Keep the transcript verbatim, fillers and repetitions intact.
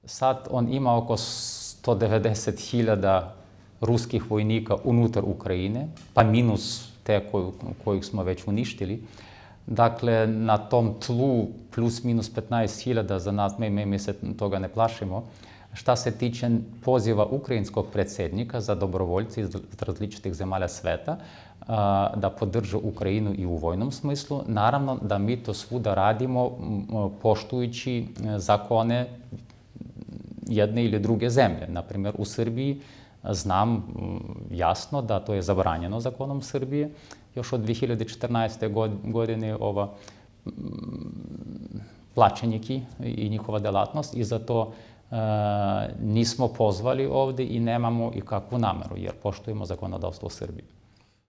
Sad on ima oko sto devedeset hiljada ruskih vojnika unutar Ukrajine, pa minus te kojih smo već uništili. Dakle, na tom tlu plus minus petnaest hiljada za nas, mi se toga ne plašimo. Šta se tiče poziva ukrajinskog predsjednika za dobrovoljci iz različitih zemalja sveta da podrže Ukrajinu i u vojnom smislu, naravno da mi to svuda radimo poštujući zakone jedne ili druge zemlje. Naprimjer, u Srbiji znam jasno da to je zabranjeno zakonom Srbije. Još od dvije hiljade četrnaeste. godine ova plaćeniki i njihova delatnost i zato nismo pozvali ovdje i nemamo i kakvu nameru jer poštujemo zakonodavstvo Srbije.